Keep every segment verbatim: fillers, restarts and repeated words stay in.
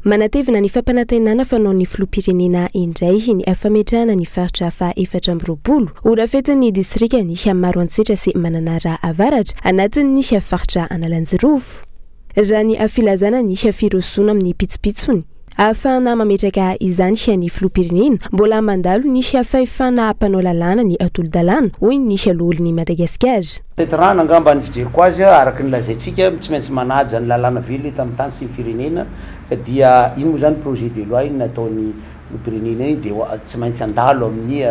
Manatevina ny fampanantenana fanaon'ny filoham-pirenena indray ny fametrahana ny faritra faha efatra amby roapolo ho rafetin'ny distrikan'i Maroantsetra sy Mananara Avaratra anatin'ny faritra Analanjirofo. Raha ny filazana ny firosoana amin'ny pitsopitsony ahafahana mametraka izany ny filoham-pirenena, mbola mandalo ny fahefana mpanao lalàna ny tolo-dalàna, hoy ny loholon'i Madagasikara. Tanterahana angamba ny fijeriko azy, araka ny lazaintsika, tsy maintsy manaja ny lalàna velona eto amin'ny tany sy ny firenena, dia iny moa zany projet de loi iny nataony filoham-pirenena iny, de tsy maintsy andalo amin'ny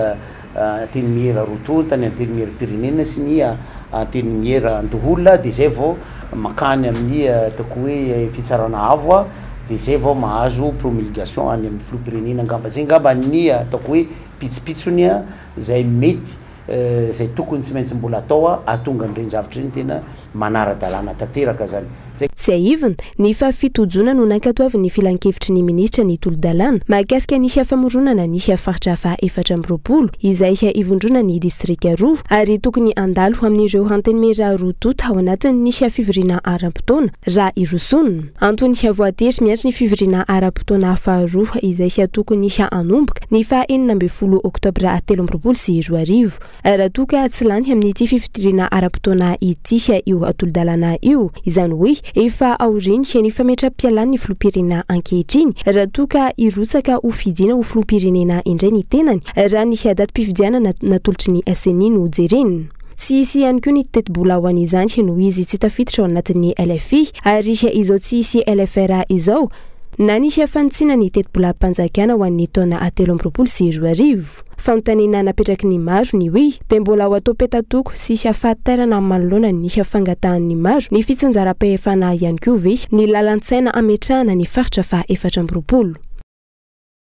antenimiera roa tonta, ny antenimieram-pirenena sy ny antenimieran-doholona, de zay vao makany amin'ny ataoko hoe fitsarana avo a, de zay vao mahazo promulgation any amin'ny filoham-pirenena. Angamba zay angamba ny ataoko hoe pitsopitsony a zay mety zay tokony tsy maintsy mbola atao a ahatonga an'ireny zavatra ireny tena manara-dalàna tanteraka zany zay. Tsiahivina ny fahafito jona no nankatoavin'ny filankevitry ny ministra ny tolo-dalàna mahakasika ny famoronana ny faritra faha efatra amby roapolo izay ivondrona ny distrika roa, ary tokony andalo amin'ireo antenimiera roa tonta ao anatin'ny fivoriana ara-potoana raha irosona. Antony voatery miantso ny fivoriana ara-potoana faharoa izay tokony hanomboka ny faha enina ambin'ny folo oktobra telo amby roapolo sy roa arivo raha toa ka tsy lany amin'ity fivoriana ara-potoana ity io tolo-dalàna io, izany hoe efa aoriany ny fametra-pialan'ny filoham-pirenena ankehitriny raha toa ka hirotsaka ho fidiana ho filoham-pirenena indray ny tenany, raha ny datim-pifidianana natolotry ny C E N I no jerena. Tsy hisy ihany koa ny tetibola ho an'izany noho izy tsy tafiditra ao anatin'ny L F I, ary izao tsy hisy L F R izao na ny fanitsiana ny tetibolam-panjakana ho an'ny taona telo amby roapolo sy roa arivo. Fanontaniana napetraky ny maro ny hoe dia mbola ho atao petatoko sy fahatairana manoloana ny fangatahan'ny maro ny fitsinjaram-pahefana ihany koa ve ny lalan-tsaina ametrahana ny faritra faha efatra amby roapolo?